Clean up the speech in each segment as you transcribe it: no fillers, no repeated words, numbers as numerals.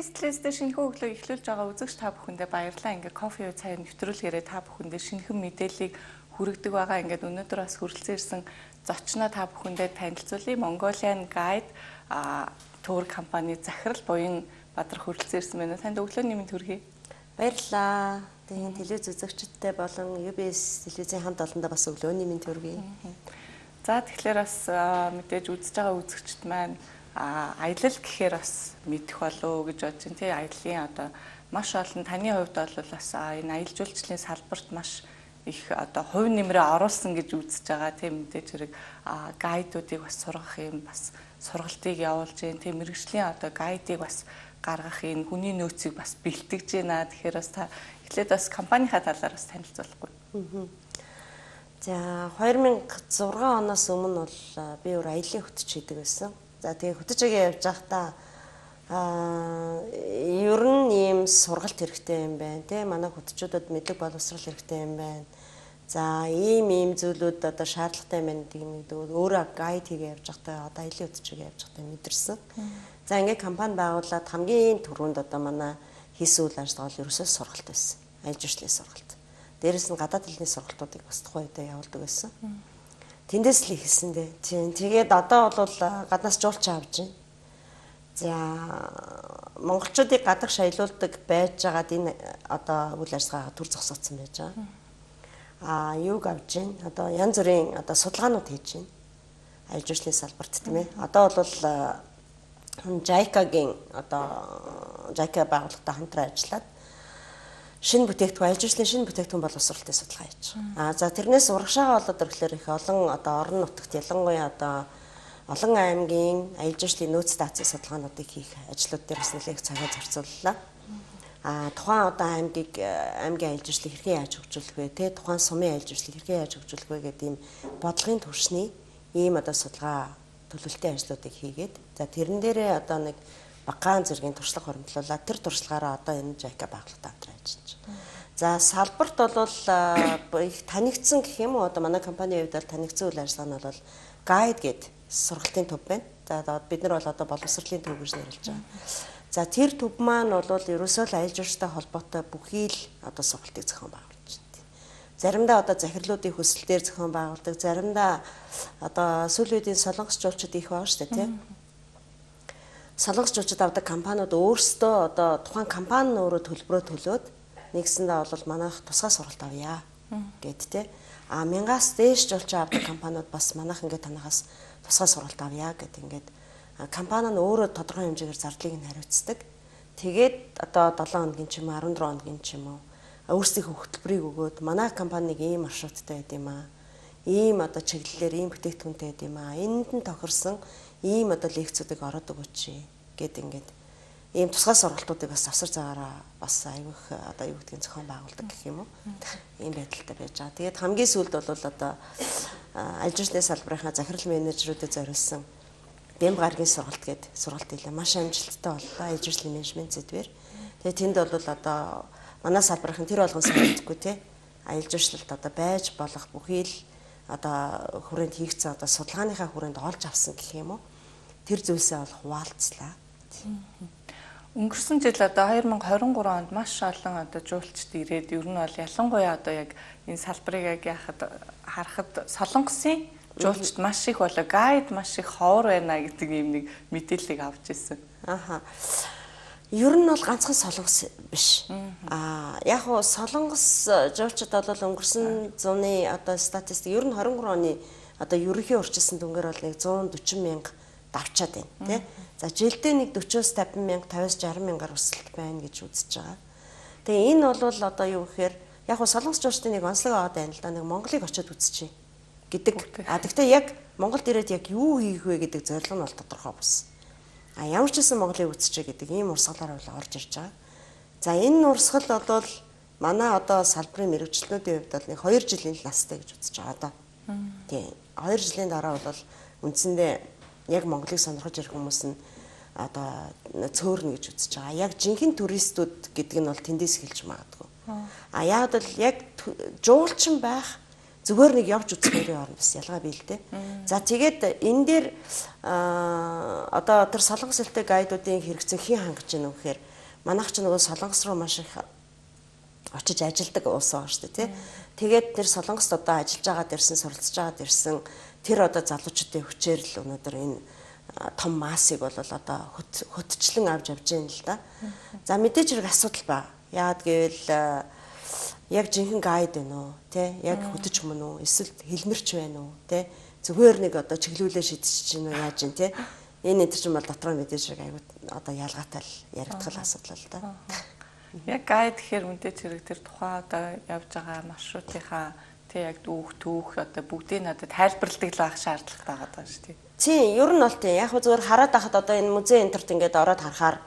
Tasteless-тэй шинэхэн өглөө эхлүүлж байгаа үзэгч та бүхэндээ баярлалаа. Ингээ кофе уу цай нэвтрүүлгээрээ та бүхэндээ шинэхэн мэдээллийг хүргэдэг байгаа. Ингээд өнөөдөр бас хүрэлцэн ирсэн зочноо та бүхэндээ танилцуулъя. Mongolian Guide тур компани захирал буян Бадар хүрэлцэн ирсэн байна. Танд өглөөний мэнд хүргэе. Баярлалаа. Тэгээд телевиз үзэгчдтэй болон UBS телевизийн хамт олондоо бас өглөөний мэнд хүргэе. За тэгэхээр бас мэдээж үзэж байгаа үзэгчд маань аялал гэхээр бас мэдэх болов гэж бодож байна. Тэ аяллаа одоо маш олон таны хувьд бол бас энэ аялал жуулчлалын салбарт маш их одоо хувь нэмрээ оруулсан гэж үзэж байгаа. Тэ мэдээж хэрэг гайдуудыг бас сургах юм бас сургалтыг явуулж байна. Тэ мэргэжлийн одоо гайдыг бас гаргах энэ хүний нөөцийг бас бэлтгэж байна. Тэгэхээр бас та эхлээд бас компанийнхаа талаар бас танилцуулахгүй. За 2006 оноос өмнө бол би өөр аяллаа хөтөч хийдэг байсан. За тэгээ хөтөчөгээ явж байхдаа ер нь ийм сургалт хэрэгтэй юм байна те манай хөтөчүүдэд мэдлэг боловсрал хэрэгтэй юм байна. За ийм зүйлүүд одоо шаардлагатай юм байна гэдэг өөрөө гайд хийгээ явж байхдаа одоо аяллаа хөтөчөгээ явж байхдаа мэдэрсэн. За ингээд компани байгуулад хамгийн түрүүнд одоо манай хийсэн үйл ажиллагаа бол ерөөсөө сургалт байсан. Аялал жуулчлалын сургалт. Дээрээс нь гадаад хэлний сургалтуудыг бас тухайн үедээ явуулдаг байсан. Тэндээс л ихсэн дээ. Тэгээд одоо бол гаднаас жуулч авч байна. За монголчуудыг гадагш аялуулдаг байж байгаад энэ одоо үйл ажиллагаа төр зогсоодсон байж байгаа. Юуг авж байна? Одоо янз бүрийн одоо судалгаанууд хийж байна. Аялал жуулчлалын салбарт тийм ээ. Одоо бол JICA-гийн одоо JICA байгууллагатай хамтран ажиллаад шинэ бүтээгдэхүүн аялал жуулчлалын шинэ бүтээгдэхүүн боловсролтын судалгаа хийж байгаа. За тэрнээс урагшаага болоод ирэхлээр их олон одоо орон нутагт ялангуяа одоо олон аймгийн аялал жуулчлалын нөөц даацын судалгаануудыг хийх ажлууд дээр бас нэлээд цагаа зарцууллаа. Тухайн одоо аймгийн аялал жуулчлалыг хэрхэн яаж хөгжүүлэх вэ? Тэ тухайн сумын аялал жуулчлалыг хэрхэн яаж хөгжүүлэх вэ гэдэг ийм бодлогын түвшний ийм одоо судалгаа төлөвлөлтийн ажлуудыг хийгээд за тэрэн дээрээ одоо нэг багаан зэргийн туршлага хөрөмтлүүлээд тэр туршлагаараа одоо энэ JICA байгууллагатай хамтран ажиллаж байна. За салбарт бол их танигдсан гэх юм уу одоо манай компанийн хувьд бол танигдсан үйл ажиллагаа нь бол гайд гэдэг сургалтын төв байна. За бид нар бол одоо боловсролын төв гэж нэрлэж байгаа. За тэр төв маань бол ерөөсөө л аялал жуулчлалтай холбоотой бүхий л одоо сургалтыг зохион байгуулж байна. Заримдаа одоо захирлуудын хүсэл дээр зохион байгуулдаг, заримдаа одоо сүүлийн үеийн солонгос жуулчид их байгаа шүү дээ, тийм. Солонгос жуулчид авдаг компаниуд өөрсдөө одоо тухайн компани нь өөрөө төлбөрөө төлөөд нэгсэндээ бол манайх тусгай сургалт авъя гэд тэ. 1000-аас дээш жуулчин авдаг компаниуд бас манайх ингээд танахаас тусгай сургалт авъя гэд ингээд компани нь өөрөө тодорхой хэмжээгээр зардлыг нь хариуцдаг. Тэгээд одоо 7 хоногийн ч юм уу 14 хоногийн ч юм уу өөрсдийнхөө хөтөлбөрийг өгөөд манай компаниг ийм маршруттай байд юм аа. Ийм одоо чиглэлээр ийм бүтээгдэхүүнтэй байд юм аа. Энэнд нь тохирсон ийм одоо лекцүүдийг ороод өгөөч гэд ингээд ийм тусгай сургалтуудыг бас завсар заагаараа бас аюух одоо юу гэдгийг зохион байгуулдаг гэх юм уу. Ийм байдалтай байж байгаа. Тэгээд хамгийн сүүлд бол одоо аялал жуулчлалын салбарынхаа захирал менежерүүдэд зориулсан Бэм гарагийн сургалт гэдэг сургалт хийлээ. Маш амжилттай боллоо аялал жуулчлалын менежмент зэдвэр. Тэгээд тэнд бол одоо манай салбарынхан тэр болгон санагдахгүй тий. Аялал жуулчлалд одоо байж болох бүхий л одоо хүрээнд хийгдсэн одоо судалгааныхаа хүрээнд олж авсан гэх юм уу. Тэр зүйлсээ бол хуваалцлаа. Өнгөрсөн жил одоо 2023 онд маш олон одоо жуулчд ирээд ер нь бол ялангуяа одоо яг энэ салбарыг яг харахад солонгосын жуулчд маш их болоо гайд маш их ховор байна гэдэг ийм нэг мэдээллийг авч ирсэн. Ер нь бол ганцхан солонгос биш. Яг хуу солонгос жуулчид бол өнгөрсөн зууны одоо статистик ер нь 23 оны одоо ерөнхий урьдчилсан дүнгээр бол нэг 140 мянга давчаад байна тий. За жилдээ нэг 40-с 50 мянга 50-с 60 мянгаар өсөлт байна гэж үзэж байгаа. Тэгээ энэ бол одоо юу гэхээр яг хуу солонгос жуулчдын нэг онцлог аваад байна л да. Нэг Монголыг очиод үзчихье гэдэг. Гэхдээ яг Монголд ирээд яг юу хийх вэ гэдэг зорилго нь бол тодорхой болсон. Ямар ч гэсэн Монголыг үзчихье гэдэг ийм урсгалаар бол орж ирж байгаа. За энэ урсгал бол манай одоо салбарын мэргэжилтнүүдийн хувьд бол нэг 2 жилийн настай гэж үзэж байгаа одоо. Тийм. 2 жилийн дараа бол үндсэндээ яг Монголыг сонирхож ирэх хүмүүс нь одоо цөөрнө гэж үзэж байгаа. Яг жинхэнэ туристууд гэдэг нь бол тэндээс эхэлж магадгүй. Яг бол яг жуулчин байх зүгээр нэг явж үзэхээрээ орно бас ялгаа бий л дээ. За тэгээд энэ дээр одоо тэр солонгос хэлтэй гайдуудын хэрэгцээ хэн хангаж байна вэ гэхээр манайх ч нөгөө Солонгос руу маш их очиж ажилладаг улс байгаа шүү дээ, тий. Тэгээд тэр Солонгост одоо ажиллаж байгаад ирсэн, суралцж байгаад ирсэн тэр одоо залуучуудын хүчээр л өнөөдөр энэ том массыг бол одоо хөтчлэн авч явж байна л да. За мэдээж хэрэг асуудал байна. Яагаад гэвэл яг жинхэнэ гайд байна уу, тий? Яг хөтөч мөн үү? Эсвэл хэлмэрч байна уу, тий? Зүгээр нэг одоо чиглүүлээ шидэж чинь яаж юм, тий? Энэ энэ чинь бол дотроо мэдээж хэрэг аягүй одоо ялгаатай л яригдах асуудал л да. Яг гайд гэхээр мэдээж хэрэг тэр тухайн одоо явж байгаа маршрутынхаа тий яг түүх одоо бүгдийг надад тайлбарладаг л байх шаардлага байгаа даа шүү дээ. Тийм, ер нь бол тийм. Яг зүгээр хараад байхад одоо энэ музей энтерт ингээд ороод харахаар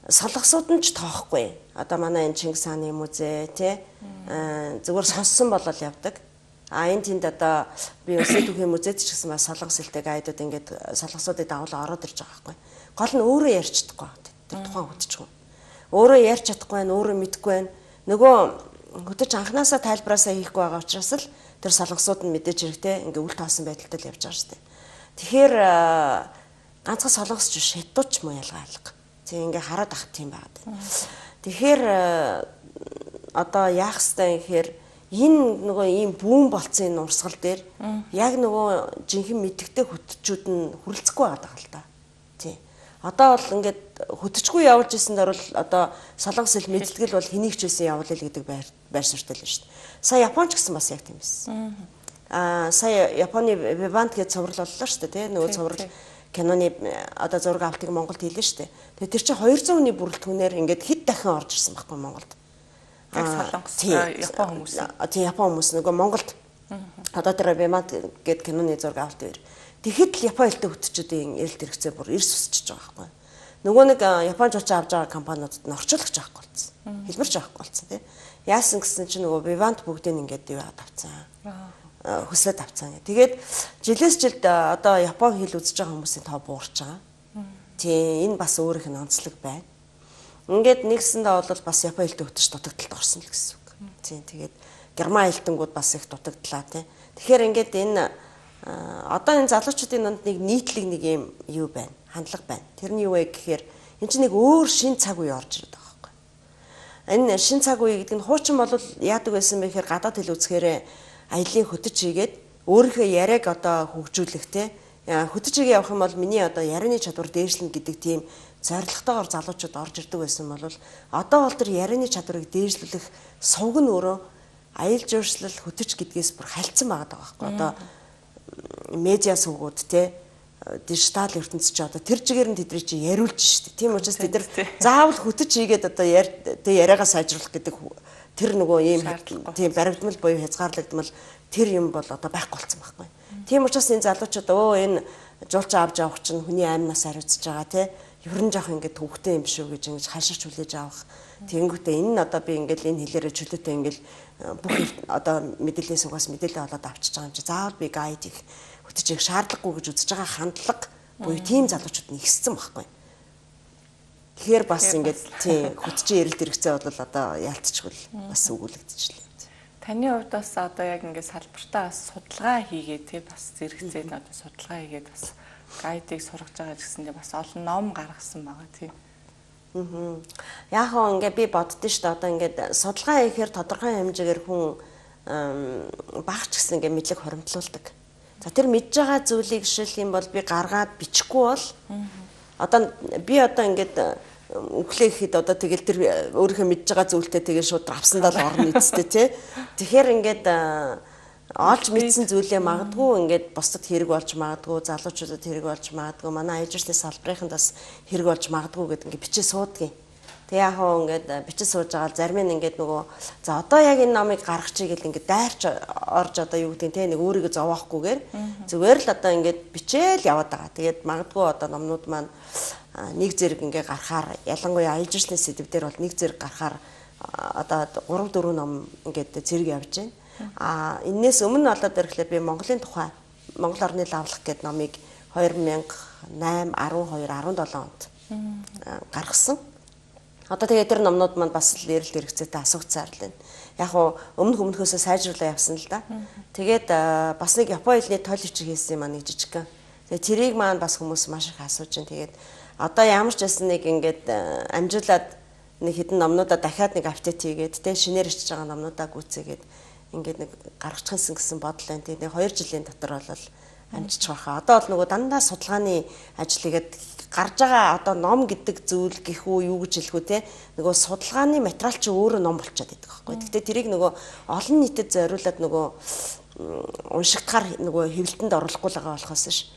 солонгосууд нь ч тоохгүй. Одоо манай энэ Чингис хааны музей тий зүгээр сонссон болол явдаг. Энэ тэнд одоо би Улсын түүхийн музейд ч гэсэн бас солонгос хэлтэй гайдууд ингээд солонгосуудыг дагуулan ороод ирж байгаа байхгүй. Гол нь өөрөө ярьж чадахгүй. Тэр тухайн хөтчгөн. Өөрөө ярьж чадахгүй байна, өөрөө мэдэхгүй байна. Нөгөө хөтөч анханасаа тайлбараасаа хийхгүй байгаа учраас л тэр солонгосууд нь мэдээж хэрэгтэй ингээ үл тоосон байдалтай л явж байгаа шүү дээ. Тэгэхээр ганцхан солонгосч биш хятадч муу ялгаа алга. Тэг ингээ хараад ах тийм байгаад байна. Тэгэхээр одоо яах ёстой юм гэхээр энэ нөгөө ийм бүүн болцсон энэ урсгал дээр яг нөгөө жинхэнэ мэдгтэй хөтчүүд нь хүрэлцэхгүй байгаа л да. Тийм. Одоо бол ингээд хөтчгүй явуулж исэн дөрвөл одоо солонгос хэл мэдлэгэл бол хэнийг ч байсан явуулъя л гэдэг байр суурьтай л шүү дээ. Сая Японч гэсэн бас яг тийм байсан. Сая Японы Vivant гэж цуврал боллоо шүү дээ, тий. Нөгөө цуврал киноны одоо зураг авалтыг Монголд хийлээ шүү дээ. Тэгээ тэр чинь 200 хүний бүрэлдэхүүнээр ингээд хэд дахин орж ирсэн байхгүй Монголд. Яг солонгос Япон хүмүүс. Тийм Япон хүмүүс нөгөө Монголд одоо тэр Vivant гэдэг киноны зураг авалт дээр. Тэгэхэд л Япон хэлтэй хөтчүүдийн эрэлт хэрэгцээ бүр эрс үсчихэж байгаа байхгүй. Нөгөө нэг Японч очиж авч байгаа компаниудад нь орчуулагч авахгүй болсон. Хэлбэрч авахгүй болсон тий. Яасан гэсэн чинь нөгөө Vivant бүгдийг ингээд юу авцсан. Хүслээд авцсан. Тэгээд жилээс жилд одоо Япон хэл үзэж байгаа хүмүүсийн тоо буурч байгаа. Тийм энэ бас өөрийнх нь онцлог байна. Ингээд нэгсэндээ бол бас Япон хэлтэй хөтөч дутагдалд орсон л гэсэн үг. Тийм тэгээд герман хэлтэнгүүд бас их дутагдлаа тий. Тэгэхээр ингээд энэ одоо энэ залуучуудын донд нэг нийтлэг нэг юм юу байна? Хандлага байна. Тэр нь юу вэ гэхээр энэ чинь нэг өөр шин цаг үе орж ирээд байгаа байхгүй. Энэ шин цаг үе гэдэг нь хуучин бол яадаг байсан бэ гэхээр гадаад хэл үзэхээр аялын хөтөч хийгээд өөрийнхөө яриаг одоо хөгжүүлэх те хөтөч хийгээ явах юм бол миний одоо ярианы чадвар дээшлэн гэдэг тийм зорилготойгоор залуучууд орж ирдэг байсан бол одоо бол тэр ярианы чадварыг дээшлүүлэх сувг нь өөрөө аялал жуулчлал хөтөч гэдгээс бүр хальцсан байгаа байхгүй. Одоо медиа сувгууд те дижитал ертөнцид ч одоо тэр чигээр нь тэдний чи яриулж штэ. Тийм учраас тэд нар заавал хөтөч хийгээд одоо яриагаа сайжруулах гэдэг тэр нөгөө ийм тийм баримтмал буюу хязгаарлагдмал тэр юм бол одоо байхгүй болсон байхгүй. Тийм учраас энэ залуучууд энэ жуулчаа авч явах чинь хүний аймнаас хариуцж байгаа те ерөн жоох ингээд төвхтэй юм шүү гэж ингэж хаширч хүлээж авах. Тэгэнгүүтээ энэ нь одоо би ингээд энэ хэлээрээ чөлөөтэй ингээд бүх одоо мэдээлэлээс угаас мэдээлэл олоод авчиж байгаа юм чи заавал би гайд их хөтөчийг шаардлагагүй гэж үзэж байгаа хандлага буюу тийм залуучууд нэгссэн байхгүй. Тэгэхээр бас ингээд тийм хөтчийн эрэлт хэрэгцээ бол одоо яалтчгүй бас өгүүлэгдчихлээ. Таны хувьд бас одоо яг ингээд салбартаа бас судалгаа хийгээд тий бас зэрэгцээд одоо судалгаа хийгээд бас гайдыг сургаж байгаа гэсэндээ бас олон ном гаргасан байгаа тий. Яг хоо ингээд би боддоо шүү дээ одоо ингээд судалгаа хийхээр тодорхой хэмжээгээр хүн багч гэсэн ингээд мэдлэг хоримтлуулдаг. За тэр мэдж байгаа зүйлийг жишээл юм бол би гаргаад бичихгүй бол одоо би одоо ингээд өглөө ихэд одоо тэгэл тэр өөрийнхөө мэдж байгаа зүйлтэй тэгээ шууд авсандаа л орно эцтэй тий. Тэгэхээр ингээд олж мэдсэн зүйлээ магадгүй ингээд бусдад хэрэг болж магадгүй, залуучуудад хэрэг болж магадгүй, манай аяжирсны салбарынханд бас хэрэг болж магадгүй гэдэг ингээд бичиж суудгийг. Тэгээ яг хөө ингээд бичиж сууж байгаа зарим нь ингээд нөгөө за одоо яг энэ номыг гаргачих гэл ингээд дайрч орж одоо юу гэдэг те нэг өөрийгөө зовоохгүйгээр зүгээр л одоо ингээд бичээл яваад байгаа. Тэгээд магадгүй одоо номнууд маань нэг зэрэг ингээ гарахаар ялангуяа аяжирсны сэдв дээр бол нэг зэрэг гарахаар одоо 3 4 ном ингээд зэрэг явж байна. Энээс өмнө болоод ирэхлээр би Монголын тухай Монгол орны лавлах гэдэг номыг 2008, 12, 17 онд гаргасан. Одоо тэгээд тэр номнууд маань бас л эрэлт хэрэгцээтэй асууцаар л байна. Яг уу өмнөхөөсөө сайжруулаа явсан л да. Тэгээд бас нэг Японы хэлний тойл бичиг хийсэн юм аа нэг жижигхан. Тэгээд тэрийг маань бас хүмүүс маш их асууж байна. Тэгээд одоо ямар ч байсан нэг ингээд амжуулаад нэг хэдэн номнуудаа дахиад нэг апдейт хийгээд те шинээр ичж байгаа номнуудаа гүйцээгээд ингээд нэг гаргачихсан гэсэн бодол байна. Тэгээд нэг 2 жилийн дотор бол амжиж байгаа. Одоо бол нөгөө дандаа судалгааны ажил хийгээд гарч байгаа одоо ном гэдэг зүйл гэх үү юу гэж хэлэх үү те нөгөө судалгааны материал чи өөрөө ном болчиход байдаг байхгүй. Гэхдээ тэрийг нөгөө олон нийтэд зориулаад нөгөө уншигдахаар нөгөө хэвлэлтэнд оруулахгүй л байгаа болохоос ш.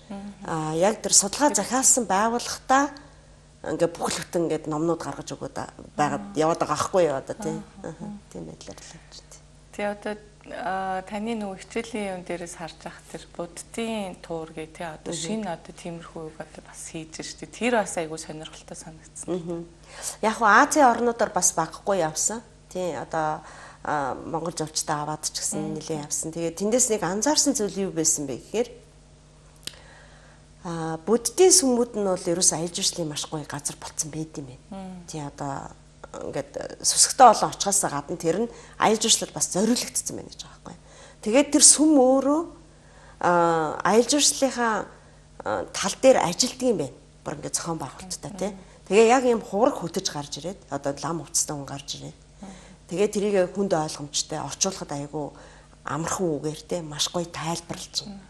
Яг тэр судалгаа захиалсан байгууллагатаа ингээ бүх л бүтэн ингээд номнууд гаргаж өгөөд байгаад яваад байгаа байхгүй юу одоо тийм байдлаар л явж байна. Тэгээ одоо таны нөгөө хичээлийн юм дээрээс харж ах тэр буддийн туур гэ тий одоо шинэ одоо тиймэрхүү үг одоо бас хийж штэ тэр бас айгүй сонирхолтой санагдсан. Яг хуу Азийн орнуудаар бас багахгүй явсан. Тий одоо Монгол жуулчтай аваад ч гэсэн нэлээд явсан. Тэгээд тэндээс нэг анзаарсан зүйл юу байсан бэ гэхээр буддийн сүмүүд нь бол ерөөс аялал жуулчлалын маш гоё газар болсон байд юм байна. Тий одоо ингээд сүсгтээ олон очихоос гадна тэр нь аялал жуулчлал бас зориулагдсан байна гэж байгаа байхгүй. Тэгээд тэр сүм өөрөө аялал жуулчлалынхаа тал дээр ажилтдаг юм байна. Бүр ингээд зохион байгуулалттай тий. Тэгээ яг юм хураг хөтөж гарч ирээд одоо лам хувцастай хүн гарч ирээд тэгээ тэрийг хүнд ойлгомжтой орчуулахад айгүй амархан үгээр те маш гоё тайлбарлаж байна.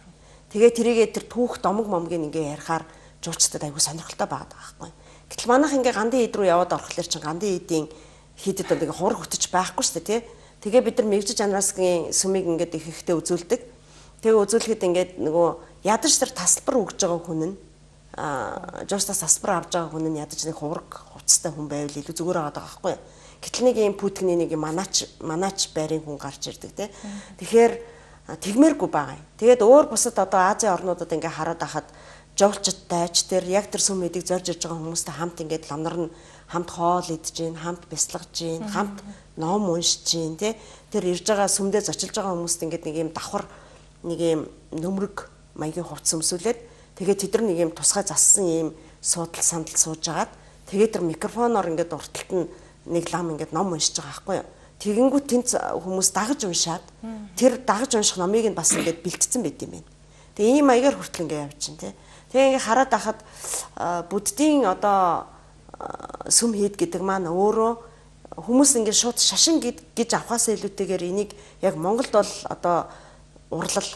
Тэгээ тэрийгээ тэр түүх домог момгийн ингээ ярихаар жуулчдад айгүй сонирхолтой байгаад байгаа байхгүй. Гэтэл манайх ингээ гандын ид рүү яваад орохлоор чинь гандын идийн хийдэд бол ингээ хураг хөтөж байхгүй шүү дээ те. Тэгээ бид нар мэгжиж анаасгийн сүмийг ингээд их ихтэй үзүүлдэг. Тэгээ үзүүлэхэд ингээд нөгөө ядаж тэр тасалбар өгж байгаа хүн нь жуулчдаас тасалбар авж байгаа хүн нь ядаж нэг хураг хувцастай хүн байвал илүү зүгээр байгаа байхгүй. Гэтэл нэг юм пүтгэний нэг манаач байрын хүн гарч ирдэг тий. Тэгэхээр тэгмээргүй байгаа юм. Тэгээд өөр бусад одоо Азийн орнуудад ингээ хараад ахад жуулчдтай ч тэр яг тэр сүм эдийг зорж ирж байгаа хүмүүстэй хамт ингээд ламнар нь хамт хоол идэж гин, хамт бясалгаж гин, хамт ном уншиж гин тий. Тэр ирж байгаа сүмдээ зочилж байгаа хүмүүст ингээд нэг юм давхар нэг юм нөмрөг маягийн хувцас өмсүүлээд тэгээд тэд нар нэг юм тусгай зассан юм суудал сандал сууж агаад тэгээд тэр микрофоноор ингээд урталт нь нэг лам ингээд ном уншиж байгаа байхгүй юу. Тэгэнгүүт тэнд хүмүүс дагаж уншаад тэр дагаж унших номыг нь бас ингээд бэлтцсэн байт юм байна. Тэгээ ийм маягаар хүртэл ингээд явж чинь тий. Тэгээ ингээд хараад ахад буддийн одоо сүм хийд гэдэг маань өөрөө хүмүүс ингээд шууд шашин гэж авахаас илүүтэйгээр энийг яг Монголд бол одоо урлал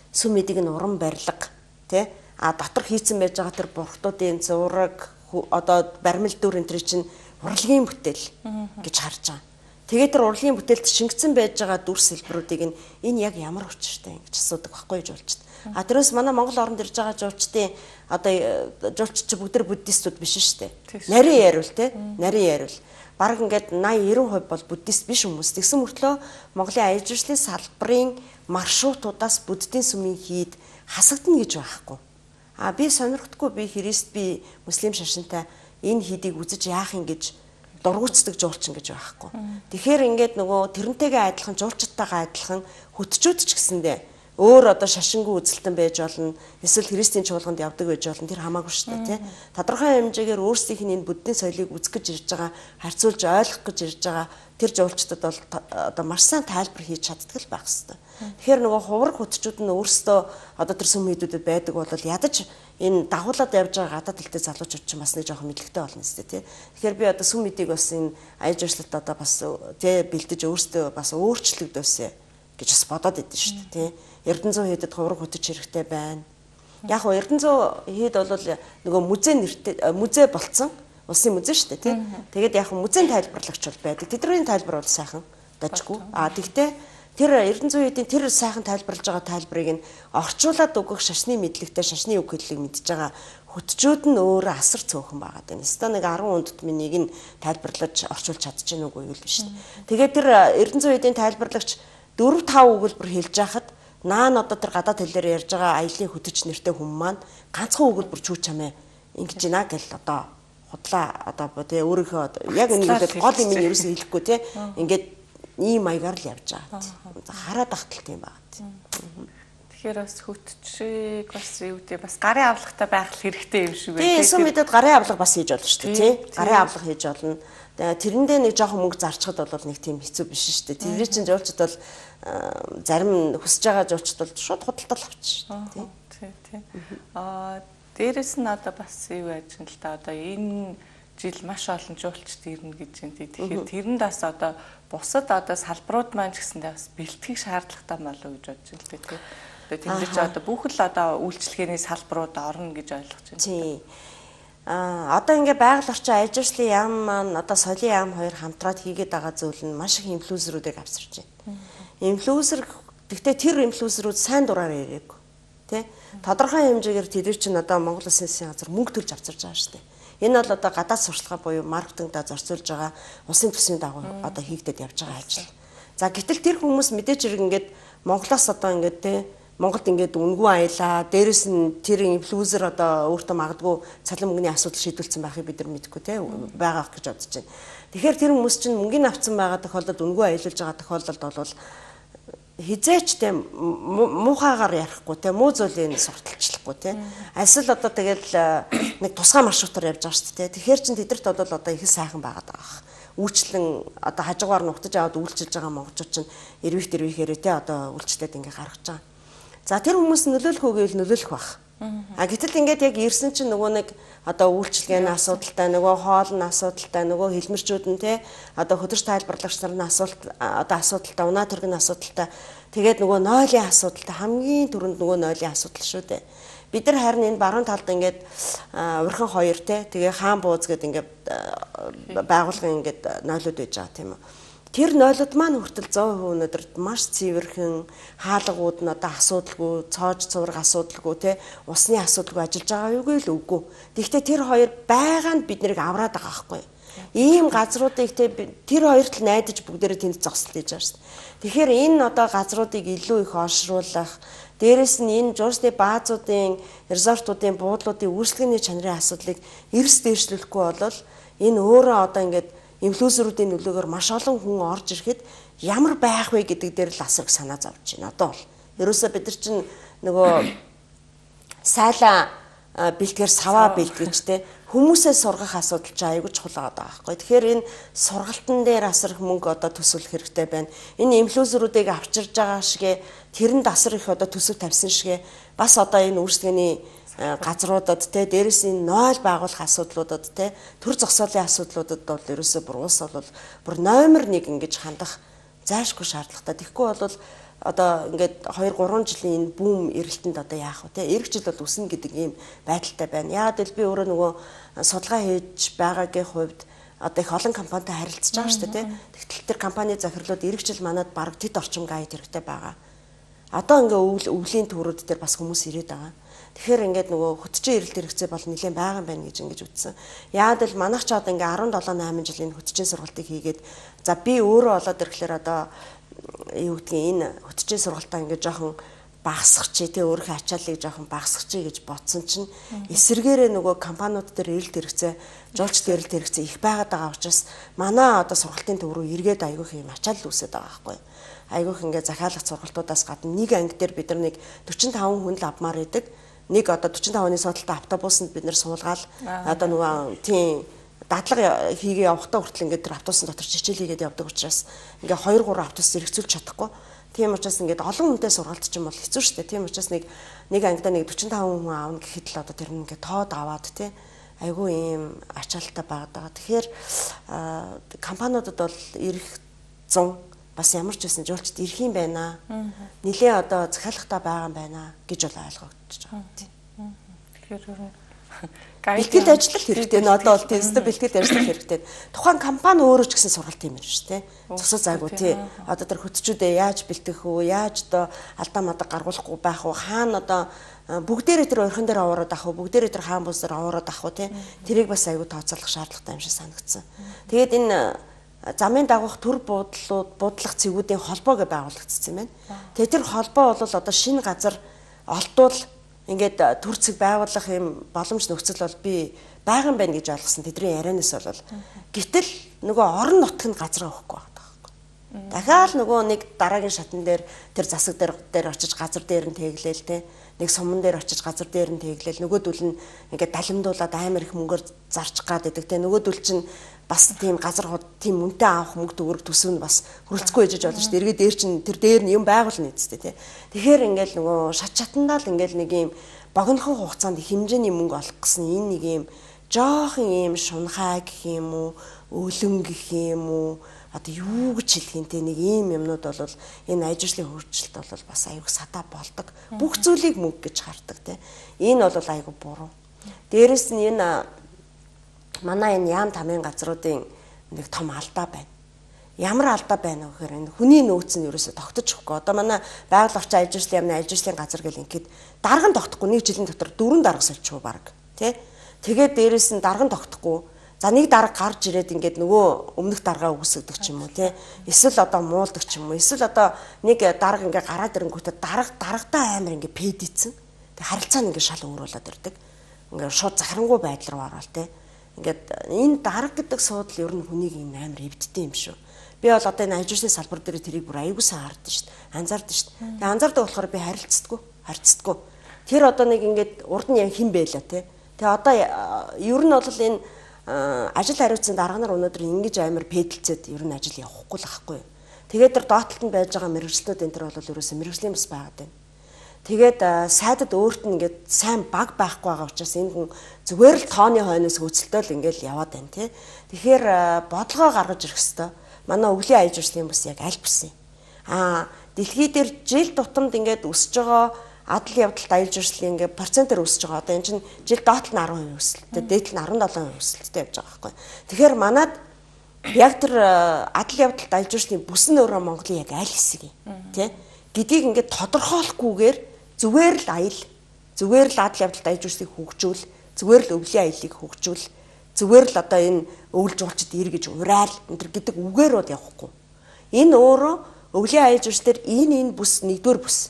сүм эдийг нь уран барилга тий дотор хийцэн байж байгаа тэр бурхтуудын зураг одоо баримл дүр энэ чинь урлагийн бүтээл гэж харж байгаа. Тэгээд тэр урлагийн бүтээлд шингэсэн байж байгаа дүр сэлбэрүүдийг энэ яг ямар учиртай гэж асуудаг байхгүй жуулчд. Тэрээс манай Монгол оронд ирж байгаа жуулчдын одоо жуулчд ч бүгд буддистууд биш шүү дээ. Нарийн яриул те. Нарийн яриул. Бараг ингээд 80-90% бол буддист биш хүмүүс. Тэгсэн мөртлөө Монголын аялал жуулчлалын салбарын маршрутуудаас буддийн сүмийн хийд хасагдана гэж байхгүй. Би сонирхдаггүй би христ би муслим шашинтай энэ хийдийг үзэж яах юм гэж дургуутдаг жуулчин гэж байхгүй. Тэгэхээр ингээд нөгөө тэрнтэйгээ адилхан жуулчдтайгаа адилхан хөтчүүд ч гэсэндээ өөр одоо шашингүй үзэлтэн байж болно. Эсвэл христийн чуулганд явдаг байж болно. Тэр хамаагүй шүү дээ, тий. Тодорхой хэмжээгээр өөрсдийнх нь энэ буддийн соёлыг үзэх гэж ирж байгаа, харьцуулж ойлгох гэж ирж байгаа тэр жуулчдад бол одоо маш сайн тайлбар хийж чаддаг л байх хэрэгтэй. Тэгэхээр нөгөө хувраг хөтчүүд нь өөрсдөө одоо тэр сүм хийдүүдэд байдаг бол ядаж энэ дагуулад явж байгаа гадаад талтай залуучууд ч бас нэг жоохон мэдлэгтэй болно өстэй тий. Тэгэхээр би одоо сүм эдийг бас энэ аялал жуулчлалт одоо бас тий бэлдэж өөрсдөө бас өөрчлөгдөөсэй гэж бас бодоод идэв шүү дээ тий. Эрдэнэзүү хийдэд хувраг хөтөж хэрэгтэй байна. Яг нь Эрдэнэзүү хийд бол нөгөө музей нэртэй музей болцсон улсын музей шүү дээ тий. Тэгээд яг музейн тайлбарлагч бол байдаг. Тэдний тайлбар бол сайхан дажгүй. Тэгтээ тэр Эрдэнэзүү хийдийн тэр сайхан тайлбарлаж байгаа тайлбарыг нь орчуулад өгөх шашны мэдлэгтэй шашны үг хэллийг мэдж байгаа хөтчүүд нь өөрөө асар цөөхөн байгаа даа. Нэстэ нэг 10 хүнд минийг нь тайлбарлаж орчуулж чадчихна үгүй юу биш. Тэгээд тэр Эрдэнэзүү хийдийн тайлбарлагч 4-5 өгүүлбэр хэлж яхад наан одоо тэр гадаад хэлээр ярьж байгаа аялын хөтөч нэртэй хүмүүс маань ганцхан өгүүлбэр чүү чамээ ингэж ийна гэл одоо худлаа одоо тэгээ өөрийнхөө яг энэ гол юм нь ерөөсөө хэлэхгүй те ингээд ийм маягаар л явж байгаа. Хараад ахталт юм байна. Тэгэхээр бас хөтчийг бас юу гэдэг бас гарын авлагатай байх хэрэгтэй юм шиг байна. Тийм сүм мэдэд гарын авлага бас хийж болно шүү дээ тий. Гарын авлага хийж болно. Тэрэндээ нэг жоохон мөнгө зарчхад бол нэг тийм хэцүү биш шүү дээ. Тэрний чинь жуулчд бол зарим хүсэж байгаа жуулчд бол шууд худалдал авчих шүү дээ тий. Дээрэс нь одоо бас юу яаж юм л та одоо энэ жил маш олон жуулчд ирнэ гэж байна. Тэгэхээр тэрэнд бас одоо бусад одоо салбарууд маань ч гэсэндээ бас бэлтгэх шаардлагатай болов уу гэж бодож байна л дээ. Одоо тэнгиж одоо бүх л одоо үйлчлэгээний салбарууд орно гэж ойлгож байна. Тийм. Одоо ингээ байгаль орчин аж арслын яам маань одоо соёлын яам хоёр хамтраад хийгээд байгаа зүйл нь маш их инфлюенсерүүдийг авчирч байна. Инфлюенсер гэхдээ тэр инфлюенсерүүд сайн дураар ирээгүй. Тэ? Тодорхой хэмжээгээр тэд чинь одоо Монгол Улсын засгийн газар мөнгө төлж авчирч байгаа шүү дээ. Энэ бол одоо гадаад сурталчилгаа буюу маркетингда зорцуулж байгаа улсын төсвийн дагуу одоо хийгдэд явж байгаа ажил. За гэтэл тэр хүмүүс мэдээж хэрэг ингээд Монголоос одоо ингээд тэ Монголд ингээд үнгүй аялаа, дээрэс нь тэр инфлюенсер одоо өөртөө магадгүй цалин мөнгөний асуудал шийдүүлсэн байхыг бид нар мэдгүй тэ байгаа гэж бодож байна. Тэгэхээр тэр хүмүүс чинь мөнгөний авцсан байгаа тохиолдолд үнгүй аялуулж байгаа тохиолдолд бол хизээч тэ муухайгаар ярихгүй тэ муу зүйлийг сурталчлахгүй тэ асил одоо тэгэл нэг тусгай маршрутаар явж байгаа шүү дээ. Тэгэхээр чин тэдэрт бол одоо их сайхан байгаад байгаа. Үйлчлэн одоо хажуугаар нухтаж аваад үйлчилж байгаа монголчууд чинь эрвэхээрээ тэ одоо үйлчлээд ингээ гаргаж байгаа. За тэр хүмүүс нөлөөлөх үгүй нөлөөлөх байх. Гэтэл ингээд яг ирсэн чинь нөгөө нэг одоо үйлчлэгээний асуудалтай, нөгөө хоолны асуудалтай, нөгөө хэлмэрчүүд нь те одоо хөдөрч тайлбарлагч нар нь асуудалтай, унаа төргийн асуудалтай. Тэгээд нөгөө нойлын асуудалтай хамгийн түрүүнд нөгөө нойлын асуудал шүү дээ. Бид нар харин энэ баруун талд ингээд урхан хоёр те тэгээ хаан бууз гэдэг ингээд байгуулгын ингээд нойлууд байж байгаа тийм үү. Тэр нойлууд маань хүртэл 100% өнөөдөр маш цэвэрхэн хаалгууд нь одоо асуудалгүй, цоож цувраг асуудалгүй те усны асуудалгүй ажиллаж байгаа юугүй л үгүй. Тэгэхдээ тэр хоёр байгаанд бид нарыг авраад байгаа байхгүй. Ийм газруудыг те тэр хоёрт л найдаж бүгдээрээ тэнд зогсол хийж байгаа шүү дээ. Тэгэхээр энэ одоо газруудыг илүү их олшруулах, дээрэс нь энэ жуулчны баазуудын, резортуудын, буудлуудын үйлчлэгээний чанарын асуудлыг эрс дээшлүүлэхгүй бол энэ өөрөө одоо ингээд инфлюенсерүүдийн нөлөөгөөр маш олон хүн орж ирэхэд ямар байх вэ гэдэг дээр л асар их санаа зовж байна. Одоо бол ерөөсөө бид нар чинь нөгөө сайлаа бэлтгэр саваа бэлтгэж те хүмүүсээ сургах асуудал чинь аягүй чухал байгаа байхгүй. Тэгэхээр энэ сургалтын дээр асар их мөнгө одоо төсвөлөх хэрэгтэй байна. Энэ инфлюенсерүүдийг авчирж байгаа шигэ тэрэнд асар их одоо төсөв тавьсан шигэ бас одоо энэ үйлчлэгээний газруудад те дээрэс нь нойл байгуулах асуудлуудад те төр зогсоолын асуудлуудад бол ерөөсөө бүр уус бол бүр номер 1 ингэж хандах зайлшгүй шаардлагатай. Тэгэхгүй бол одоо ингээд 2-3 жилийн энэ бүүм эрэлтэнд одоо яах вэ те эх жил бол үснэ гэдэг ийм байдалтай байна. Яагаад гэвэл би өөрөө нөгөө судалгаа хийж байгаагийн хувьд одоо их олон компанитай харилцаж байгаа шүү дээ те. Тэгтэл тэр компани захирлууд эх жил манад бараг тэд орчим гайд хэрэгтэй байгаа. Одоо ингээ өвлийн төрөд дээр бас хүмүүс ирээд байгаа. Тэгэхээр ингээд нөгөө хөтчийн эрэлт хэрэгцээ бол нэлээд байгаа юм байна гэж ингэж үзсэн. Яагаад л манайх ч одоо ингээ 17-8 жилийн хөтчийн сургалтыг хийгээд за би өөрөө болоод ирэхлээр одоо юу гэдгийг энэ хөтчийн сургалтаа ингээ жоохон багасгачих тий өөрийнхөө ачааллыг жоохон багасгачих гэж бодсон чинь эсэргээрээ нөгөө компаниуд дээр эрэлт хэрэгцээ, жуулчд эрэлт хэрэгцээ их байгаад байгаа учраас манай одоо сургалтын төв рүү эргээд аягүйх юм ачаалал үүсээд байгаа байхгүй. Аягүйх ингээ захиалах сургалтуудаас гадна нэг анги дээр бид нар нэг 45 хүн л авмаар идэг. Нэг одоо 45-ны судалтай автобусанд бид нэр суулгаал одоо нөгөө тийм дадлага хийгээ явахдаа хүртэл ингээд тэр автобусын дотор чичээл хийгээд явдаг учраас ингээ 2-3 автобус зэрэгцүүлж чадахгүй. Тийм учраас ингээд олон хүнтэй сургалт ч юм бол хэцүү шүү дээ. Тийм учраас нэг ангидаа нэг 45 хүн аавна гэхэд л одоо тэр нь ингээ тоод аваад тий айгүй ийм ачаалттай байгаа. Тэгэхээр компаниудад бол ирэх 100 бас ямар ч байсан жуулчд ирэх юм байна. Нилээ одоо захиалгатай байгаа юм байна гэж бол ойлгогдож байгаа тийм. Тэгэхээр бэлтгэл ажиллах хэрэгтэй нэ одоо бол тест бэлтгэл ажиллах хэрэгтэй. Тухайн компани өөрөө ч гэсэн сургалт юм шүү дээ. Зогсоо зайгүй тий. Одоо тэр хөтчүүдээ яаж бэлтгэх үү? Яаж одоо алдаа мада гаргуулахгүй байх уу? Хаана одоо бүгдээрээ тэр орхон дээр аваад ах уу? Бүгдээрээ тэр хаан бус дээр аваад ах уу тий? Тэрийг бас аягүй тооцоолох шаардлагатай юм шиг санагдсан. Тэгээд энэ замын дагуух төр буудлах цэгүүдийн холбоо гэж байгуулагдсан юм байна. Тэгээ тэр холбоо бол одоо шинэ газар олдвол ингээд төр цэг байгуулах юм боломж нөхцөл бол би байгаа юм байна гэж ойлгосон. Тэдний ярианаас бол гэтэл нөгөө орон нутгийн газар авахгүй байгаа байхгүй. Дахиад нөгөө нэг дараагийн шатн дээр тэр засаг дээр очиж газар дээр нь тэглээл те нэг суман дээр очиж газар дээр нь тэглээл нөгөөдөл нь ингээд далимдуулаад амар их мөнгөөр зарчих гад байдаг те нөгөөдөл чинь бас тийм газар хот тийм үнэтэй авах мөнгө төгрөг төсөв нь бас хөрөлцөхгүй ээжж болно шүү дээ. Эргээд дээр чинь тэр дээр нь юм байгуулна үсттэй тий. Тэгэхээр ингээл нөгөө шат чатандаа л ингээл нэг юм богинохон хугацаанд хэмжээний мөнгө олох гэсэн энэ нэг юм жоохон ийм шунхай гэх юм уу, өлөн гэх юм уу, одоо юу гэж хэлэх юм те нэг ийм юмнууд бол энэ аж арчлын хөгжилт бол бас аюул садаа болдог. Бүх зүйлийг мөнгө гэж хардаг те. Энэ бол аюул буруу. Дээрэс нь энэ манай энэ яам тамийн газруудын нэг том алдаа байна. Ямар алдаа байна вэ гэхээр энэ хүний нөөц нь ерөөсө тогтож өгөхгүй. Одоо манай байгаль орчин аж арчлын яамны аж арчлын газар гэл ингээд дарган тогтохгүй нэг жилийн дотор 4 дарга сольчихгүй баг тий. Тэгээд дээрэс нь дарган тогтохгүй. За нэг дарга гарч ирээд ингээд нөгөө өмнөх даргаа үгүйсгдэг ч юм уу тий. Эсвэл одоо муулдаг ч юм уу. Эсвэл одоо нэг дарга ингээд гараад ирэнгүүтээ даргатаа амар ингээд пэдицэн. Тэг харилцаа нь ингээд шал өөр болоод ирдэг. Ингээд шууд захирангуй байдал руу ороод тий. Ингээд энэ дарга гэдэг суудал ер нь хүнийг юм амар эвддэг юм шүү. Би бол одоо энэ аж арчлын салбар дээр тэрийг бүр аягүй сайн хардаг шүү дээ. Анзаардаг шүү дээ. Тэгээ анзаардаг болохоор би харилцдаггүй. Тэр одоо нэг ингээд урд нь яг хэн байлаа тий. Тэгээ одоо ер нь бол энэ ажил хариуцсан дарга нар өнөөдөр ингэж амар пэдэлцээд ер нь ажил явахгүй л ахгүй. Тэгээд тэр доотлолд нь байж байгаа мэргэжлүүд энэ төр бол ерөөсөө мэргэжлийн бас байгаад байна. Тэгээд сайдад өөрт нь ингээд сайн баг байхгүй байгаа учраас энэ хүн зүгээр л тооны хойноос хөөцөлтөөл ингээд яваад байна тий. Тэгэхээр бодлогоо гаргаж ирэх хэвээр. Манай өвлийн аж арчлын бас яг аль бисэн. Дэлхий дээр жил тутамд ингээд өсөж байгаа адал явдалт аж арчлын ингээд процентээр өсөж байгаа. Одоо энэ чинь жил доотлол нь 10% өсөлттэй, дээдлэл нь 17% өсөлттэй явж байгаа байхгүй. Тэгэхээр манад яг тэр адал явдалт аж арчлын бүс нь өөрөө Монголын яг аль хэсэг юм тий гэдгийг ингээд тодорхойлохгүйгээр зүгээр л аял, зүгээр л адал явдалт аж арчлыг хөгжүүл, зүгээр л өвлийн аялыг хөгжүүл, зүгээр л одоо энэ өвөл жуулчд ир гэж ураал энэ гэдэг үгээр бод явахгүй. Энэ өөрөө өвлийн аял журс дээр энэ бүс 1-р бүс.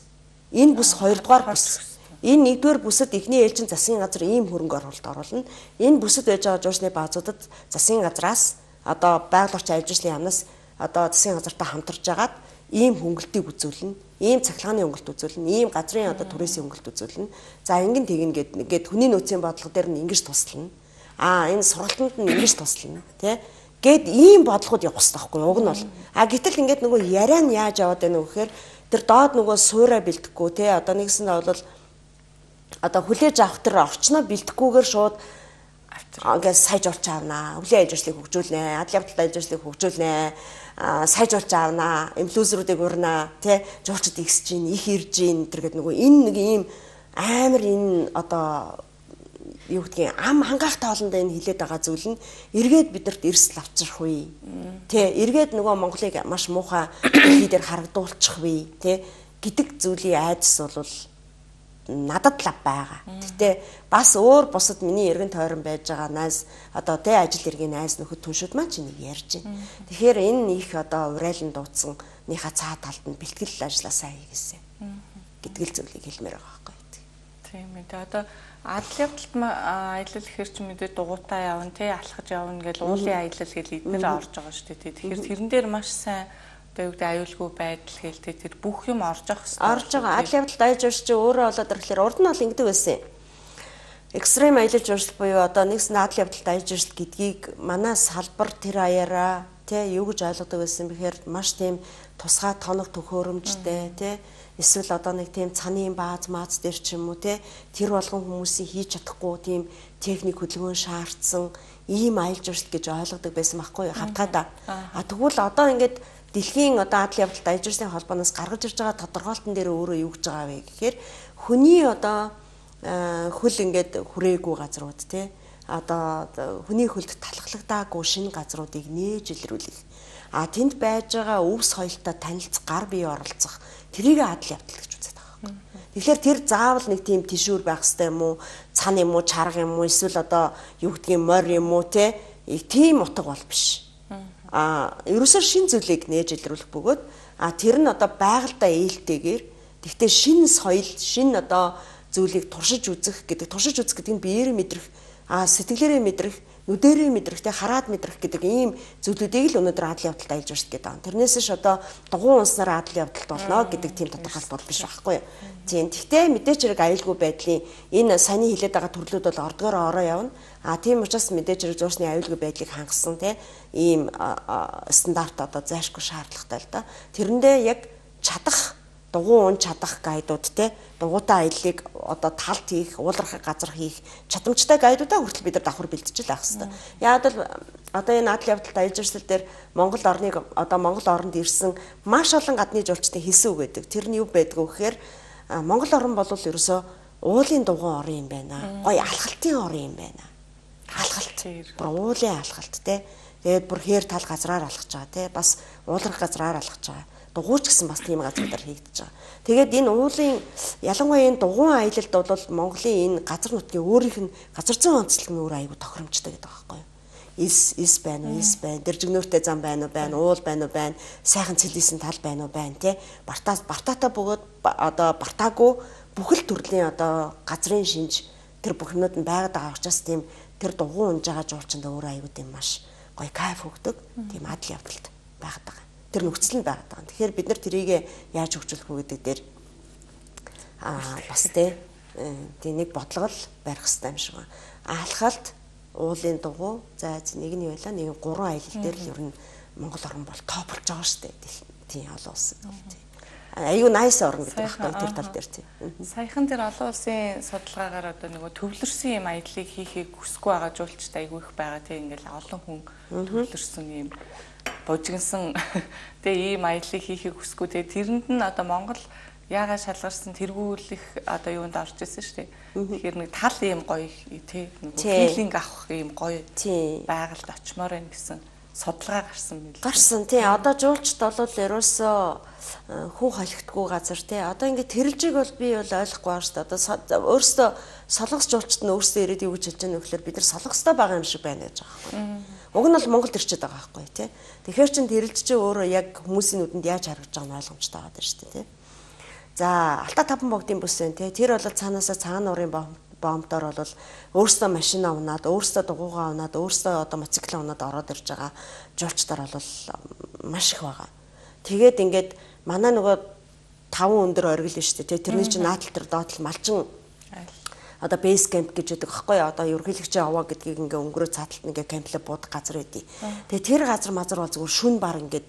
Энэ бүс 2-р бүс. Энэ 1-р бүсэд эхний ээлжин засгийн газар ийм хөрөнгө оруулалт оруулна. Энэ бүсэд байж байгаа жуурсны баазуудад засгийн газраас одоо байгаль орчин аж арчлын яамнаас одоо засгийн газартаа хамтарч агаад ийм хөнгөлтийг үзүүлнэ. Ийм цахилгааны хөнгөлт үзүүлнэ. Ийм газрын одоо түрээсийн хөнгөлт үзүүлнэ. За ингэн тэгнэ гээд хүний нөөцийн бодлого дээр нь ингэж туслана. Энэ сургалтанд нь ингэж туслана тий гэд ийм бодлогод явах хэрэгтэй байхгүй уг нь бол гэтэл ингээд нөгөө яриа нь яаж яваад байна вэ гэхээр тэр доод нөгөө суураа бэлдэхгүй тий одоо нэгсэндээ бол одоо хүлээж авах тэр орчноо бэлдэхгүйгээр шууд ингээд сайжруулж аавнаа өвлийн аж арчлыг хөгжүүлнэ адал явдалт аж арчлыг хөгжүүлнэ сайжруулж аавнаа инфлюенсеруудыг урнаа тий жуулчд ихсэж гин их ирж гин тэр гэдэг нөгөө энэ нэг ийм амар энэ одоо юу гэдгийг ам хангаах тоолондоо энэ хилээд байгаа зүйл нь эргээд бидэрт эрсэл авчрах вэ. Тэ эргээд нөгөө Монголыг маш муухай хийдээр харагдуулчих вэ. Тэ гэдэг зүйлийн айдас бол надад л байгаа. Гэтэ бас өөр бусад миний эргэн тойрон байж байгаа найз одоо тэ ажил иргэний найз нөхөд түншүүд маань ч нэг ярьж байна. Тэгэхээр энэ их одоо урайлан дуудсан нийнхаа цаа талд нь бэлтгэл ажилласаа хийгээсэ гэдэг л зүйлийг хэлмээр байгаа байхгүй. Тийм ээ. Одоо адал явдалт аялал гэхэр чи мэдээ дугуйтаа явна тий алхаж явна гэж уулын аялал гэж эдгээр орж байгаа шүү дээ. Тэгэхээр тэрэн дээр маш сайн одоо юу гэдэг аюулгүй байдал гэлтэй тэр бүх юм орж авах хэрэгтэй. Орж байгаа. Адал явдалт аяж урч чи өөрөө болоод ирэхлээр урд нь бол ингэдэг байсан. Экстрем аялал журсал буюу одоо нэгсэн адал явдалт аяж урсал гэдгийг манай салбар тэр аяараа тий юу гэж ойлгодог байсан бэхээр маш тийм тусгай тоног төхөөрөмжтэй тий эсвэл одоо нэг тийм цаны бааз мааз дээр ч юм уу те тэр болгон хүмүүсийн хийж чадахгүй тийм техник хөдөлгөөн шаардсан ийм аялал журсал гэж ойлгодог байсан байхгүй хавтгаадаа. Тэгвэл одоо ингээд дэлхийн одоо адал явдалт аяж урсын холбооноос гаргаж ирж байгаа тодорхойлтон дээр өөрөө юу гэж байгаа вэ гэхээр хүний одоо хөл ингээд хүрээгүй газрууд те одоо хүний хөлд талхлагдаагүй шинэ газруудыг нээж илрүүлэх. Тэнд байж байгаа өвс соёлтой танилцах, гар бие оролцох тэрийг адал явдал гэж үздэг байгаа. Тэгэхээр тэр заавал нэг тийм тишүүр байх хэрэгтэй юм уу, цан юм уу, чарга юм уу, эсвэл одоо юу гэдгийг морь юм уу те тийм утга бол биш. Ерөөсөө шин зүйлийг нээж илрүүлэх бөгөөд тэр нь одоо байгальтай ээлтэйгээр тэгтээ шин соёл, шин одоо зүйлийг туршиж үзэх гэдэг нь биеэр мэдрэх, сэтгэлээрээ мэдрэх, нүдэрээ мэдрэх, хараад мэдрэх гэдэг ийм зүйлүүдийг л өнөөдөр адал явдалт аялж урсдаг гэдэг. Тэрнээс ш одоо дугуй унснаар адал явдалт болно гэдэг тийм тодорхойлт бол биш байхгүй юу. Тийм. Тэгтээ мэдээч хэрэг аюулгүй байдлын энэ саяны хилээд байгаа төрлүүд бол ордгоор ороо явна. Тийм учраас мэдээч хэрэг зуурсны аюулгүй байдлыг хангасан ийм стандарт одоо зайлшгүй шаардлагатай л да. Тэрэндээ яг чадах дугуй ун чадах гайдууд те дугуйтай аяллыг одоо талт хийх, уулархах газар хийх чадамжтай гайдуудаа хүртэл бид нар давхар бэлтжил авах хэрэгтэй. Яг л одоо энэ адал явдалт аялал жуулчлал дээр Монгол оронд ирсэн маш олон гадны жуулчдын хэлсэн үг гэдэг. Тэр нь юу байдг вэ гэхээр Монгол орн бол ерөөсөө уулын дугуй орн юм байна. Гоё алхалтын орн юм байна. Алхалт. Бүр уулын алхалт те. Тэгээд бүр хээр тал газраар алхаж байгаа те. Бас ууларх газраар алхаж байгаа. Дугуйч гэсэн бас тийм газруудаар хийгдэж байгаа. Тэгээд энэ уулын ялангуяа энэ дугуйн аялалд бол Монголын энэ газар нутгийн өөрийнх нь газар зүйн онцлог нь өөр аюул тохиромжтой гэдэг байгаа байхгүй юу? Ис байна уу, ис байна. Дэржигнүүртэй зам байна уу, уул байна уу, сайхан цэлийсэн тал байна уу, те. Бартаата бөгөөд одоо бартаагүй бүхэл төрлийн одоо газрын шинж тэр бүхнүүд нь байгаад байгаа учраас тийм тэр дугуй унж байгаа жуулчинд өөр аюул тийм маш гоё кайф өгдөг. Тийм адал явдалт байгаад байгаа. Тэр нөхцөл нь байгаад байгаа. Тэгэхээр бид нар тэрийг яаж хөгжүүлэх вэ гэдэг дээр бас тийм нэг бодлого барих хэрэгтэй юм шиг байна. Алхалт, уулын дугуй, за нэг нь байлаа, нэг гурван аялал дээр л ер нь Монгол орн бол топ болж байгаа шүү дээ. Тийм олон улс. Аюу найс орн гэдэг байхгүй тэр тал дээр тийм. Саяхан тэр олон улсын судалгаагаар одоо нөгөө төвлөрсөн юм аяллыг хийхийг хүсэхгүй байгаа жуулчд аягүй их байгаа тийм ингээл олон хүн төвлөрсөн юм бужигнсан тэгээ ийм аяллыг хийхийг хүсэхгүй тэгээ тэрэнд нь одоо Монгол яагаад шалгарсан тэргүүлэх одоо юунд орж ирсэн шүү дээ. Тэгэхээр нэг тал ийм гоё тий нэг филинг авах ийм гоё байгальд очимоор байна гэсэн судалгаа гарсан мэл. Гарсан тий одоо жуулчд бол ерөөсөө хүн холигдгүй газар тий одоо ингээд тэрэлжийг бол би бол ойлгохгүй байна шүү дээ. Одоо өөрөөсөө солонгос жуулчд нь өөрсдөө ирээд юу гэж хэлж байгаа нөхлөөр бид нар солонгостой байгаа юм шиг байна гэж байгаа байхгүй. Уг нь бол Монголд ирчээд байгаа байхгүй тий. Тэгэхээр чин тэрэлж чи өөрөө яг хүмүүсийн нүдэнд яаж харагдаж байгааг нь ойлгомжтой байгаа даа шүү дээ тий. За Алтай таван богдын бүс байна тий. Тэр бол цаанаасаа цагаан нуурын бомбдоор бол өөрсдөө машина унаад, өөрсдөө дугуйгаа унаад, өөрсдөө одоо мотоцикл унаад ороод ирж байгаа жуулчдаар бол маш их байгаа. Тэгээд ингээд манай нөгөө 5 өндөр оргил нь шүү дээ. Тэрний чинь наадтал төр доотл малчин одоо бейс кемп гэж байдаг аахгүй одоо ерөнхийлөгчийн аваа гэдгийг ингээ өнгөрөө цааталт ингээ кемплээ буудах газар байдий. Тэгээ тэр газар мазар бол зүгээр шүн бар ингээд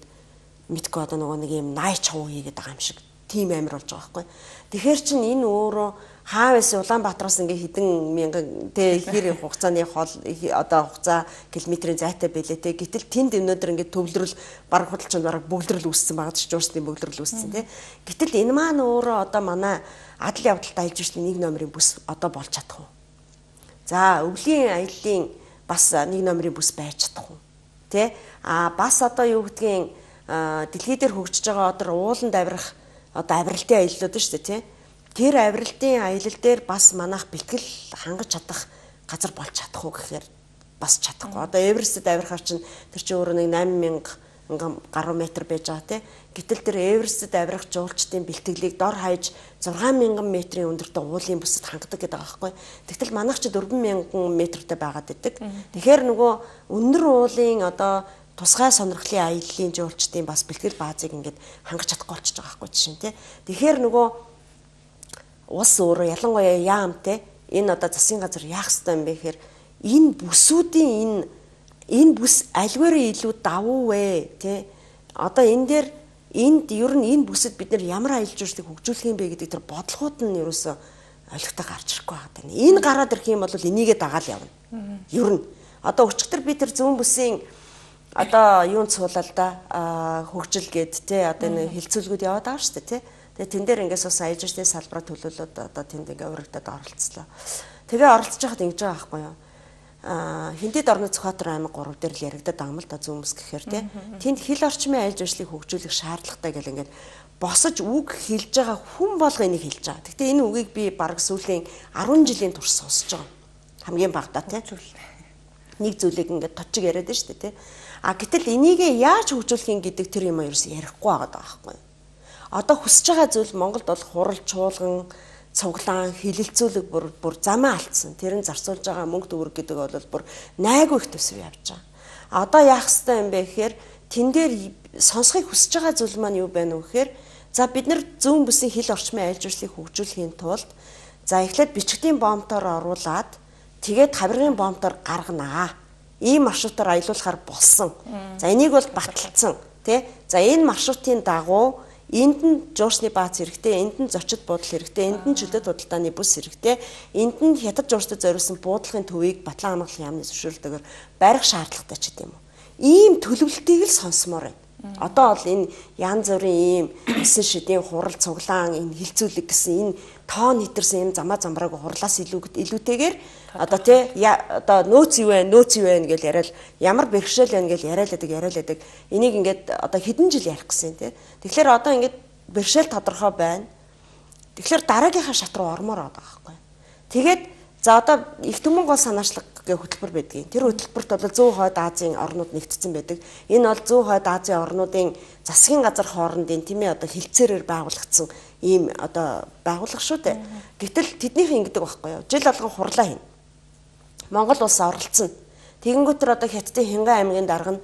мэдгүй одоо нөгөө нэг юм найч хав хийгээд байгаа юм шиг тийм амир болж байгаа аахгүй. Тэгэхээр чин энэ өөрөө хаавс Улаанбаатараас ингээ хэдэн мянган тэ хэр хугацааны хол одоо хугацаа километрийн зайтай байлээ тэ. Гэтэл тэнд өнөөдөр ингээ төвлөрөл баг худалчин бараг бөглөрөл үүссэн байгаа ч жуурсны бөглөрөл үүссэн тэ. Гэтэл энэ маань өөрөө одоо манай адал явдалт аялал жуулчлалын 1 номерын бүс одоо болж чадах уу? За өвлийн аяллаа бас 1 номерын бүс байж чадах уу? Тэ? Бас одоо юу гэдгийг дэлхий дээр хөгжиж байгаа одоо ууланд авирах одоо авиралтын аяллууд шүү дээ, тэ? Тэр авиралтын аялал дээр бас манайх бэлтгэл хангаж чадах газар болж чадах уу гэхээр бас чадахгүй. Одоо Эверестэд авирахаар чинь тэр чинь өөрөө нэг 8000 гаруй метр байж байгаа тий. Гэтэл тэр Эверестэд авирах жуулчдын бэлтгэлийг дор хаяж 6000 метрийн өндөртөө уулын бүсэд хангадаг гэдэг байгаа байхгүй. Тэгтэл манайх ч 4000 метртэй байгаад байдаг. Тэгэхээр нөгөө өндөр уулын одоо тусгай сонирхлын аяллаа жуулчдын бас бэлтгэл баазыг ингээд хангаж чадахгүй болчихж байгаа байхгүй жишээ нь тий. Тэгэхээр нөгөө улс өөрөө ялангуяа яамтэй энэ одоо засгийн газар яах ёстой юм бэ гэхээр энэ бүсүүдийн энэ бүс альваараа илүү давуу вэ тий одоо энэ дээр энд ер нь энэ бүсэд бид нар ямар аялал жуулчлалыг хөгжүүлэх юм бэ гэдэг тэр бодлогууд нь ерөөсөө олигтой гарч ирэхгүй байгаа даа. Энэ гараад ирэх юм бол энийгээ дагаал явна. Ер нь одоо өчигдөр би тэр зүүн бүсийн одоо юунд суулаа да хөгжил гээд тий одоо энэ хилцүүлгүүд яваад байгаа шүү дээ тий. Тэгээ тэн дээр ингээс бас аялал жуулчлалын салбараа төлөөлөд одоо тэнд ингээ урагдаад оролцлоо. Тэгээ оролцож байхад ингэж байгаа байхгүй юу? Хиндэд орны Цохотор аймаг 3 дээр л яригадаад байгаа юм л да зүүн бүс гэхээр тий. Тэнд хил орчмын аялал жуулчлалыг хөгжүүлэх шаардлагатай гэл ингээд босож үг хэлж байгаа хүн болго энийг хэлж байгаа. Гэхдээ энэ үгийг би бараг сүүлийн 10 жилийн турш сонсож байгаа. Хамгийн багадаа тий. Нэг зүйлийг ингээд точиг яриад байна шүү дээ тий. Гэтэл энийг яаж хөгжүүлэх юм гэдэг тэр юм ерөөс ярихгүй байгаа байхгүй юу? Одоо хүсэж байгаа зүйл Монголд бол хурал чуулган, цуглаан, хилэлцүүлэг бүр замаа алдсан. Тэр нь зарцуулж байгаа мөнгө төгрөг гэдэг бол бүр найгүй их төсөв явж байгаа. Одоо яах ёстой юм бэ гэхээр тэн дээр сонсхийг хүсэж байгаа зүйл маань юу байна вэ гэхээр за бид нар зүүн бүсийн хил орчмын аялал жуулчлалыг хөгжүүлэхийн тулд за эхлээд бичгтийн бомбтоор оруулаад тэгээд хавиргын бомбтоор гарганаа. Ийм маршрутаар аялуулахаар болсон. За энийг бол баталсан, тий? За энэ маршрутын дагуу Энд нь жуурсны баац хэрэгтэй, энд нь зочид буудал хэрэгтэй, энд нь чөлөөт худалдааны бүс хэрэгтэй, энд нь хятад жуурстай зориулсан буудлагын төвийг Батлан хамгааллын яамны зөвшөөрлөөр барих шаардлагатай ч гэдэм юм. Ийм төлөвлөлтийг л сонсомоор байна. Одоо бол энэ янз бүрийн ийм өсөн шидийн хурал цуглаан энэ хилцүүлэг гэсэн энэ тоон хитэрсэн юм замаа замбрааг хурлаас илүүтэйгээр одоо тий одоо нөөц юу вэ гэж яриад ямар бэрхшээл байна гэж яриалаадаг энийг ингээд одоо хэдэн жил ярих гэсэн тий. Тэгэхээр одоо ингээд бэрхшээл тодорхой байна. Тэгэхээр дараагийнхаа шат руу ормоор байгаа байхгүй. Тэгээд за одоо их түмэн гол санаачлаг гэх хөтөлбөр байдгийг. Тэр хөтөлбөрт бол Зүүн Хойд Азийн орнууд нэгдсэн байдаг. Энэ бол Зүүн Хойд Азийн орнуудын засгийн газар хоорондын тийм ээ одоо хилцээрээр байгуулагдсан ийм одоо байгууллага шүү дээ. Гэтэл тэднийх ингэдэг байхгүй юу? Жил болгон хурлаа хийнэ. Монгол улс оролцсон. Тэгэнгүүтэр одоо Хятадын Хянган аймгийн дарга нь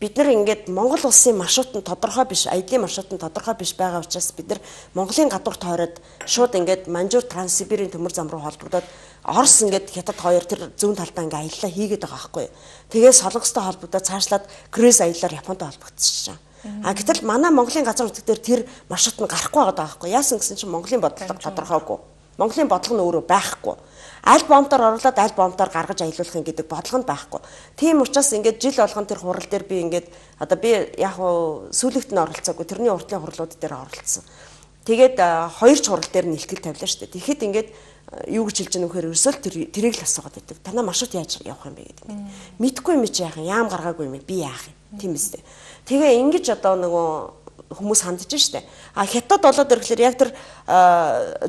бид нар ингээд Монгол улсын маршрут нь тодорхой биш, аялын маршрут нь тодорхой биш байгаа учраас бид нар Монголын гадуурт хойроод шууд ингээд Манжуур Транссибирийн төмөр зам руу холбогдоод Орос ингээд Хятад хоёр тэр зүүн талдаа ингээд аяллаа хийгээд байгаа байхгүй юу. Тэгээ Солонгостой холбогдоод цаашлаад круиз аяллаар Японд холбогдчихжээ. Гэтэл манай Монголын газар нутаг дээр тэр маршрут нь гарахгүй байгаа байхгүй юу. Яасан гэсэн чинь Монголын бодлого тодорхойгүй. Монголын бодлого нь өөрөө байхгүй. Аль бомтоор оруулаад аль бомтоор гаргаж аялуулах гэдэг бодлого нь байхгүй. Тийм учраас ингээд жил болгон тэр хурал дээр би ингээд одоо би яг хуу сүүлэгт нь оролцоогүй тэрний уртлын хурлууд дээр оролцсон. Тэгээд хоёр ч хурал дээр нь ихтгэл тавилаа шүү дээ. Тэгэхэд ингээд юу гэж хэлж байгаа нөхөр ерөөсөө тэрийг л асуугаад байдаг. Танаа маршрут яаж явах юм бэ гэдэг ингээд. Мэдгүй юм чи яах юм, яам гаргаагүй юм би яах юм. Тийм үстэй. Тэгээ ингэж одоо нөгөө хүмүүс хандж штэ. Хятад болоод ирэхлээр яг тэр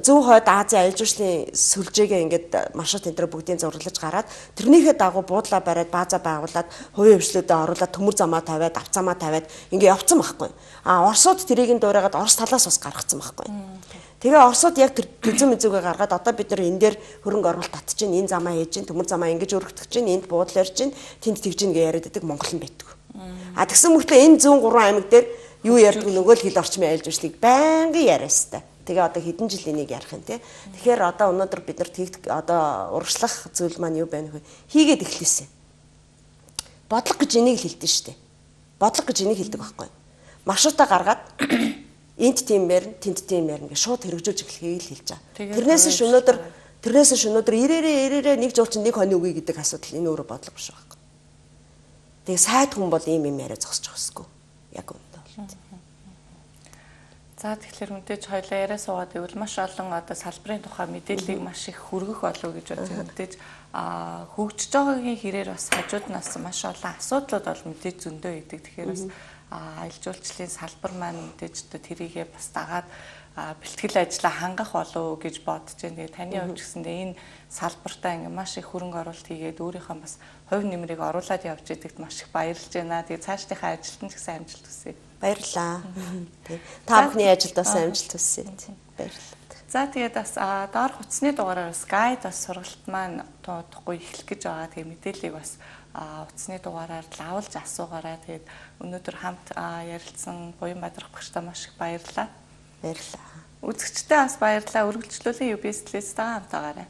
Зүүн Хойд Азийн аялал жуулчлалын сүлжээгээ ингээд маршрут энэ бүгдийг зурлаж гараад тэрнийхээ дагуу буудлаа бариад бааза байгуулад хувийн хвшлүүдэд оруулаад төмөр замаа тавиад авцамаа тавиад ингээд явцсан байхгүй. Оросууд тэрийг нь дуурайгаад Орос талаас бас гаргацсан байхгүй. Тэгээ Оросууд яг тэр төзөн мэзүүгээ гаргаад одоо бид нар энэ дээр хөрөнгө оруулалт татж чинь энэ замаа хийж чинь төмөр замаа ингэж өргөтгөж чинь энд буудлаар чинь тэнд тэгж ин гэж яриад байдаг Монгол нь байдаг. Тэгсэн мөртлөө энэ зүүн 3 аймаг дээр юу ярьдаг нөгөө л хэл орчмын аялал жуулчлалыг байнгын яриастай. Тэгээ одоо хэдэн жил энийг ярих юм те. Тэгэхээр одоо өнөөдөр бид нар одоо урагшлах зүйл маань юу байна вэ? Хийгээд эхлэсэн. Бодлого гэж энийг хэлдэг шүү дээ. Бодлого гэж энийг хэлдэг байхгүй. Маршрутаа гаргаад энд тийм мэрн, тэнд тийм мэрн гэж шууд хэрэгжүүлж эхлэхийг л хэлж байгаа. Тэрнээс өнөөдөр ирээрээ нэг жуулчин нэг хоног үгүй гэдэг асуудал энэ өөрөө бодлого биш байхгүй. Тэгээ сайд хүн бол ийм юм яриа зогсож байгаа хэвгүй. Яг үнэ. За тэгэхээр мэдээж хоёлаа яриа суугаад ивэл маш олон одоо салбарын тухай мэдээллийг маш их хүргэх болов гэж бодож мэдээж хөгжиж байгаагийн хэрээр бас хажууднаас маш олон асуудлууд бол мэдээж зөндөө идэг. Тэгэхээр бас аялал жуулчлалын салбар маань мэдээж одоо тэрийгээ бас дагаад бэлтгэл ажлаа хангах болов гэж бодож байна. Тэгээ таны хувьд гэсэндээ энэ салбартаа ингээ маш их хөрөнгө оруулалт хийгээд өөрийнхөө бас хувь нэмрийг оруулаад явж байдагт маш их баярлж байна. Тэгээ цаашдынхаа ажилтнанд ч гэсэн амжилт хүсье. Баярлалаа. Та бүхний ажилд бас амжилт хүсье. Баярлалаа. За тэгээд бас доор хуцсны дугаараар бас гайд бас сургалт маань туудахгүй эхлэх гэж байгаа. Тэгээ мэдээллийг бас утасны дугаараар лавлж асуугаарай. Тэгээд өнөөдөр хамт ярилцсан Буян Бадрах багштай маш их баярлалаа. Баярлалаа. Үзэгчтэй бас баярлалаа. Үргэлжлүүлэн UBS-ээс хамтаагаарай.